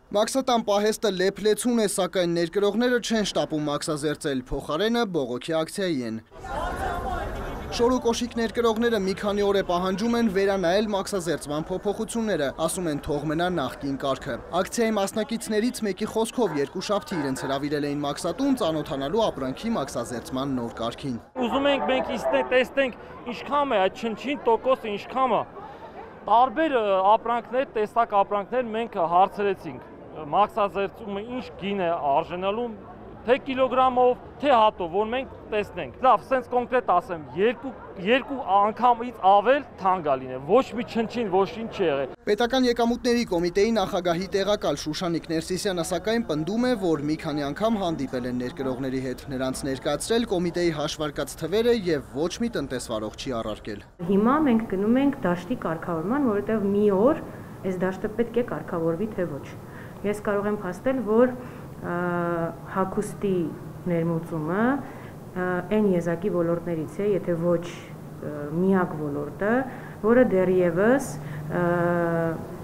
Մաքսատան պահեստը լեփլեցուն է, սակայն ներկրողները չեն շտապում մաքսազերծել, փոխարենը բողոքի ակցիայի են։ Շորուկոշիկ ներկրողները մի քանի օր է պահանջում են վերանայել մաքսազերծման փոփոխությունները, ասում են թող մնա նախկին կարգը։ Ակցիայի մասնակիցներից մեկի խոսքով երկուշաբթի իրենց հրավիրել էին մաքսատուն ծանոթանալու ապրանքի մաքսազերծման նոր կարգին։ Ուզում ենք մենք տեսնենք ինչքան է այդ չնչին տոկոսը, ինչքան է։ Տարբեր ապրանքներ, տեսակ ապրանքներ մենք հարցրեցինք։ Մաքսազերծումը ինչ գին է արժանալու, թե կիլոգրամով, թե հատով, որ մենք տեսնենք։ Լավ, սենց կոնկրետ ասեմ, երկու անգամից ավել թանկ լինի, ոչ մի չնչին, ոչ ինչ չի եղել։ Պետական եկամուտների կոմիտեի նախագահի տեղակալ Շուշանիկ Ներսիսյանը սակայն պնդում է, որ մի քանի անգամ հանդիպել են ներկրողների հետ, նրանց ներկայացրել կոմիտեի հաշվարկած թվերը եւ ոչ մի տնտեսվարող չի առարկել։ Հիմա մենք գնում ենք դաշտի կարգավորման, որովհետեւ մի օր այս դաշտը պետք է կարգավորվի, թե ոչ։ Ես կարող եմ փաստել, որ հագուստի ներմուծումը այն եզակի ոլորտներից է, եթե ոչ միակ ոլորտը, որը դեռևս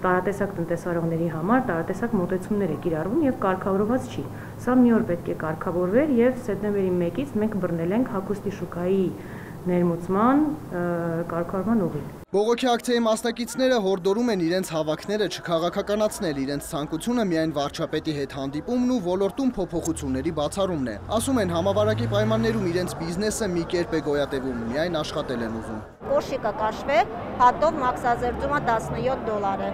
տարատեսակ տնտեսվարողների համար տարատեսակ մոտեցումներ է կիրառվում եւ կարգավորված չի։ Սա մի օր պետք է կարգավորվեր եւ սեպտեմբերի 1-ից մենք բռնել ենք հագուստի շուկայի ներմուծման կարգավորման ուղին։ Բողոքի ակցիայի մասնակիցները հորդորում են իրենց հավաքները չքաղաքականացնել, իրենց ցանկությունը միայն վարչապետի հետ հանդիպումն ու ոլորտում փոփոխությունների բացառումն է։ Ասում են համավարակի պայմաններում իրենց բիզնեսը մի կերպ է գոյատևում, միայն աշխատել են ուզում։ Կոշիկը կաշվե, հատով մաքսազերծումը $17 է։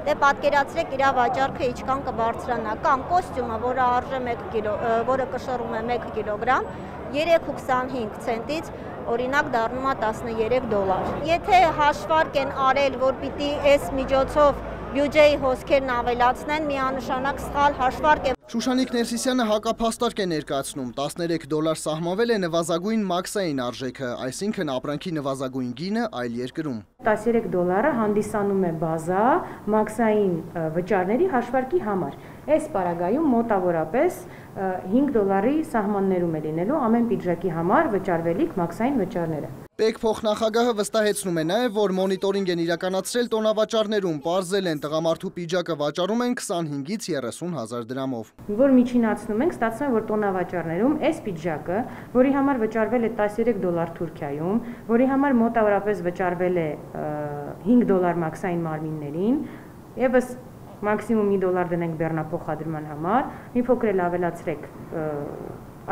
Դե պատկերացրեք իր վաճառքը ինչքան կբարձրանա, կամ կոստյումը, որը արժե 1 կիլո, որը կշռում է 1 կիլոգրամ, 3.25 ցենտից օրինակ դառնում է $13։ Եթե հաշվարկ են արել, որ պիտի այս միջոցով բյուջեի հոսքերն ավելացնեն, միանշանակ սխալ հաշվարկ է։ Շուշանիկ Ներսիսյանը հակափաստարկ է ներկայացնում, $13 սահմանվել է նվազագույն մաքսային արժեքը, այսինքն ապրանքի նվազագույն գինը այլ երկրում։ $13 հանդիսանում է բազա մաքսային վճարների հաշվարկի համար։ Այս պարագայում մոտավորապես $5 սահմաններում է լինելու ամեն պիջակի համար վճարվելիք մաքսային վճարները։ Պետք փոխնախագահը վստահեցնում է նաև, որ մոնիտորինգ են իրականացրել տոնավաճառներում, պարզել են տղամարդու պիջակը վաճառում են 25-ից 30 հազար դրամով։ Որ միջինացնում ենք, ստացվում է, որ տոնավաճառներում այս պիջակը, որի համար վճարվել է $13 Թուրքիայում, որի համար մոտավորապես վճարվել է $5 մաքսային մարմիններին, եւս մաքսիմում $1 դնենք բեռնափոխադրման համար, մի փոքր էլ ավելացրեք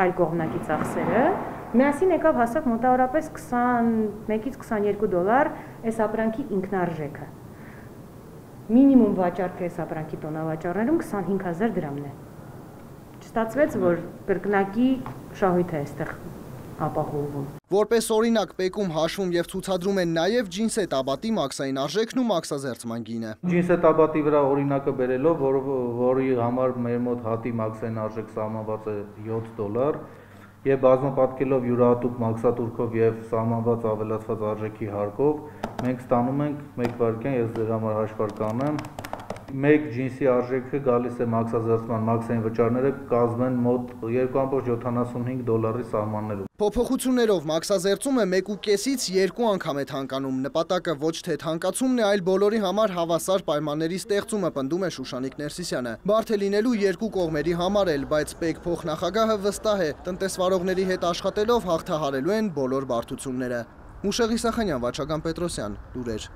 այլ կողմնակի ծախսերը, միասին եկավ հասավ մոտավորապես $21-ից $22 այս ապրանքի ինքնարժեքը։ Մինիմում վաճառքը այս ապրանքի տոնավաճառներում 25,000 դրամն է։ Չստացվեց, որ կրկնակի շահույթ է այստեղ ապահովում։ Որպես օրինակ պեկում հաշվում եւ ցուցադրում են նաև ջինսետ աբատի մաքսային արժեքն ու մաքսազերծման գինը։ Ջինսետ աբատի վրա օրինակը բերելով, որի համար մեր մոտ հատի մաքսային արժեք սահմանված է $7 եւ բազմապատկելով յուրահատուկ մաքսատուրքով եւ սահմանված ավելացված արժեքի հարկով, մենք ստանում ենք 1 վայրկյան, ես ձեր համար հաշվարկ անեմ, 1 ջինսի արժեքը գալիս է մաքսազերծման մաքսային վճարները կազմեն մոտ $2.75 սահմաններում։ Փոփոխություններով մաքսազերծումը 1.5-ից 2 անգամ է թանկանում, նպատակը ոչ թե թանկացումն է, այլ բոլորի համար հավասար պայմանների ստեղծումը, պնդում է Շուշանիկ Ներսիսյանը։ Բարդ է լինելու երկու կողմերի համար էլ, բայց պետք փոխնախագահը վստահ է, տնտեսվարողների հետ աշխատելով հաղթահարելու են բոլոր բարդությունները։ Մուշեղ Իսախանյան, Վաչագան Պետրոսյան, լուրեր։